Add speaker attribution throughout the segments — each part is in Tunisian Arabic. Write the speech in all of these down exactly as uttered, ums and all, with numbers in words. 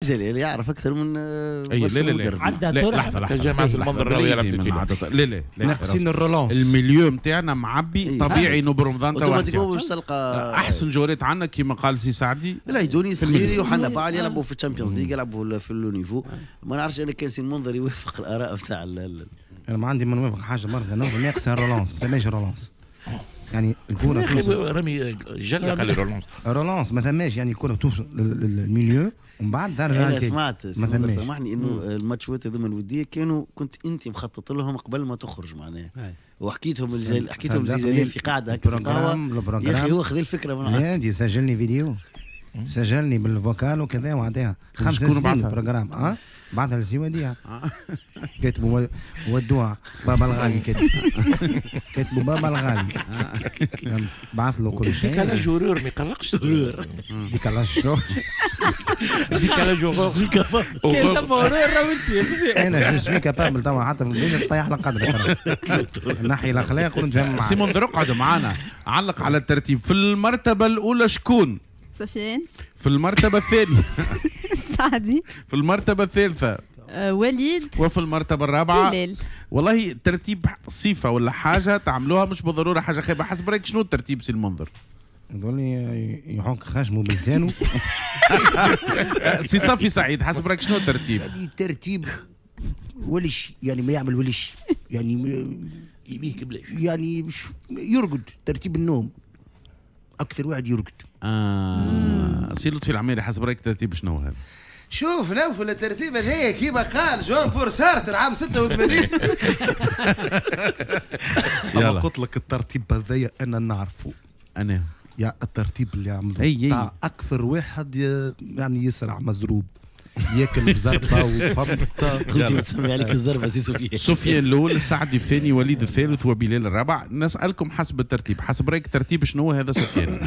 Speaker 1: جلال يعرف اكثر من
Speaker 2: اي لا لا لا
Speaker 3: عدى
Speaker 2: لا لحظة لحظة
Speaker 4: جماعة المنظر راهو يلعب
Speaker 2: لا لا
Speaker 5: ناقصين ال relance.
Speaker 2: ال milieu نتاعنا معبي طبيعي نوب رمضان
Speaker 1: توا باش تلقى
Speaker 2: احسن جوارات عندنا كيما قال سي سعدي
Speaker 1: العيدوني صغيري وحنا بعد يلعبوا في ال Champions League يلعبوا في le niveau. ما نعرفش انا كان سي المنظر يوافق الاراء نتاع
Speaker 5: انا ما عندي ما نوافق حاجة مرة ناقص ال relance ما ثماش relance يعني الكره
Speaker 4: توصل رامي جلق على ال relance
Speaker 5: relance ما ثماش يعني الكره توصل لل milieu ومن بعد
Speaker 1: ترجع. انا سمعت سامحني انه الماتشات هذوما الودية كانوا كنت انت مخطط لهم قبل ما تخرج معناها وحكيتهم الجل... حكيتهم زي جلال في قاعدة هكا في القهوة يا اخي هو خذ الفكرة من
Speaker 5: عندي سجلني فيديو سجلني بال vocal وكذا وعطيها خمس سنين programme اه بعدها لسي وديع كاتبوا ودوها بابا الغالي كاتب كاتبوا بابا الغالي بعث له كل شيء.
Speaker 4: décalage horaire ما يقلقش
Speaker 5: décalage شنو؟
Speaker 4: décalage horaire
Speaker 5: انا je suis capable توا حتى في البيت نطيح القدر نحي الاخلاق ونتفاهم معاك.
Speaker 2: سي منذر اقعد معانا علق على الترتيب. في المرتبة الاولى شكون؟
Speaker 6: سفيان.
Speaker 2: في المرتبة الثانية
Speaker 6: سعدي.
Speaker 2: في المرتبة الثالثة
Speaker 6: أه وليد.
Speaker 2: وفي المرتبة الرابعة
Speaker 6: بلال.
Speaker 2: والله ترتيب صفة ولا حاجة تعملوها مش بالضرورة حاجة خايبة. حسب رأيك شنو الترتيب سي المنظر؟
Speaker 5: يظل يحك خشمه بلسانه.
Speaker 2: سي صافي سعيد حسب رأيك شنو الترتيب؟
Speaker 7: يعني ترتيب ولش يعني ما يعمل ولش يعني
Speaker 4: يميك بلاش
Speaker 7: يعني يرقد ترتيب النوم اكثر واحد يرقد.
Speaker 2: آه سي لطفي العميري حسب رايك ترتيب شنو هذا؟
Speaker 8: شوف نوفل الترتيب هذايا كيما قال جون بول سارتر عام ستة وثمانين.
Speaker 5: انا قلت لك الترتيب هذايا انا نعرفه.
Speaker 2: انا
Speaker 5: يا الترتيب اللي عملوه تاع اكثر واحد يعني يسرع مزروب ياكل بزربه وفهمت.
Speaker 1: كنت بتسمي عليك الزربه سي سفيان.
Speaker 2: سفيان الاول، السعدي الثاني، وليد الثالث، وبلال الرابع. نسالكم حسب الترتيب، حسب رايك ترتيب شنو هذا سفيان؟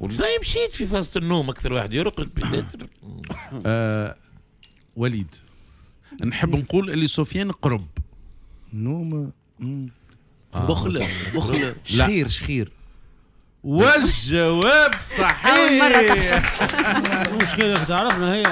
Speaker 4: والله مشيت في فاصة النوم اكثر واحد يرقد peut-être.
Speaker 2: آه وليد نحب نقول اللي سفيان قرب
Speaker 5: نوم
Speaker 1: بخله بخله
Speaker 5: شخير شخير
Speaker 2: والجواب صحيح.
Speaker 6: أول مرة تحصل.
Speaker 3: مشكلة تعرفنا هي.